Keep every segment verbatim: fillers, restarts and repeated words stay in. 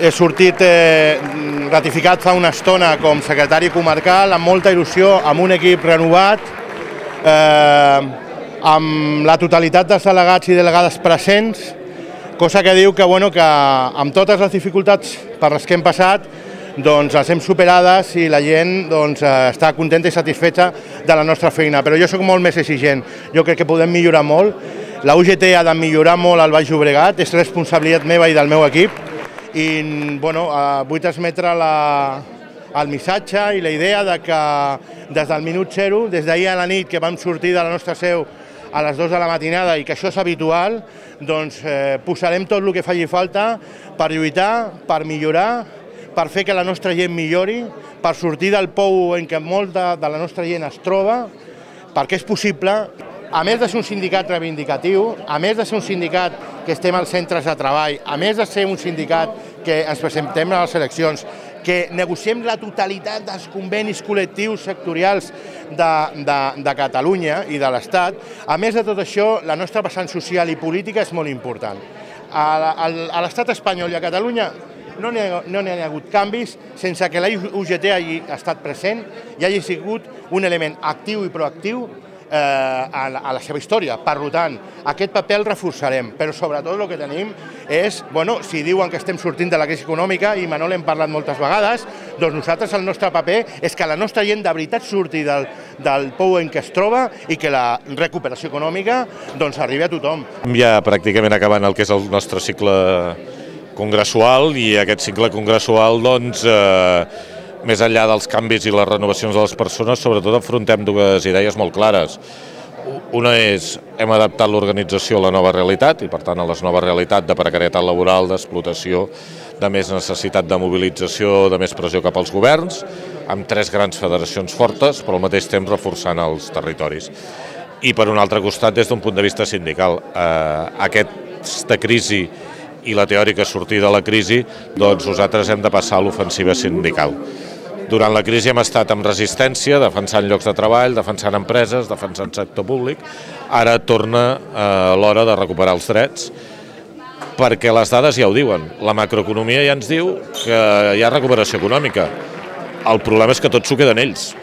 he sortit eh, ratificat fa una estona com secretari comarcal, amb molta il·lusió, amb un equip renovat, eh, amb la totalitat dels delegats i delegades presents, cosa que diu que, bueno, que amb totes les dificultats per les que hem passat, doncs les hem superades i la gent doncs, està contenta i satisfeta de la nostra feina. Però jo sóc molt més exigent, jo crec que podem millorar molt. La U G T ha de millorar molt al Baix Llobregat, és responsabilitat meva i del meu equip, i bueno, vull transmetre la, el missatge i la idea de que des del minut zero, des d'ahir a la nit que vam sortir de la nostra seu a les dues de la matinada i que això és habitual, doncs eh, posarem tot el que faci falta per lluitar, per millorar, per fer que la nostra gent millori, per sortir del pou en què molta de la nostra gent es troba, perquè és possible. A més de ser un sindicat reivindicatiu, a més de ser un sindicat que estem als centres de treball, a més de ser un sindicat que ens presentem a les eleccions, que negociem la totalitat dels convenis col·lectius sectorials de, de, de Catalunya i de l'Estat, a més de tot això, la nostra vessant social i política és molt important. A, a, a l'Estat espanyol i a Catalunya no n'hi ha, no n'hi ha hagut canvis sense que la U G T hagi estat present i hagi sigut un element actiu i proactiu eh, a, la, a la seva història. Per tant, aquest paper el reforçarem, però sobretot el que tenim és, bueno, si diuen que estem sortint de la crisi econòmica, i Manol hem parlat moltes vegades, doncs nosaltres el nostre paper és que la nostra gent de veritat surti del, del pou en què es troba i que la recuperació econòmica doncs, arribi a tothom. Ja pràcticament acabant el que és el nostre cicle congressual, i aquest cicle congressual, doncs, eh, més enllà dels canvis i les renovacions de les persones, sobretot afrontem dues idees molt clares. Una és, hem adaptat l'organització a la nova realitat, i per tant a la nova realitat de precarietat laboral, d'explotació, de més necessitat de mobilització, de més pressió cap als governs, amb tres grans federacions fortes, però al mateix temps reforçant els territoris. I per un altre costat, des d'un punt de vista sindical, eh, aquesta crisi i la teòrica sortida de la crisi, doncs nosaltres hem de passar a l'ofensiva sindical. Durant la crisi hem estat amb resistència, defensant llocs de treball, defensant empreses, defensant sector públic. Ara torna eh, l'hora de recuperar els drets, perquè les dades ja ho diuen. La macroeconomia ja ens diu que hi ha recuperació econòmica. El problema és que tot s'ho queden ells.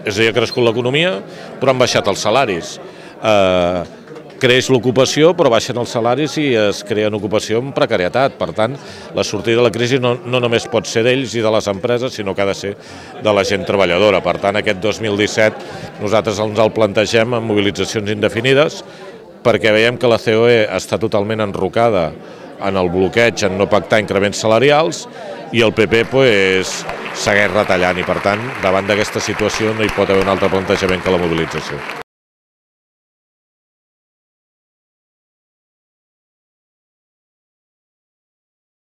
És a dir, ha crescut l'economia, però han baixat els salaris. Eh, creix l'ocupació, però baixen els salaris i es creen ocupació amb precarietat. Per tant, la sortida de la crisi no, no només pot ser d'ells i de les empreses, sinó que ha de ser de la gent treballadora. Per tant, aquest dos mil disset nosaltres ens el plantegem amb mobilitzacions indefinides, perquè veiem que la C O E està totalment enrocada en el bloqueig, en no pactar increments salarials, i el P P pues, segueix retallant, i per tant, davant d'aquesta situació no hi pot haver un altre plantejament que la mobilització.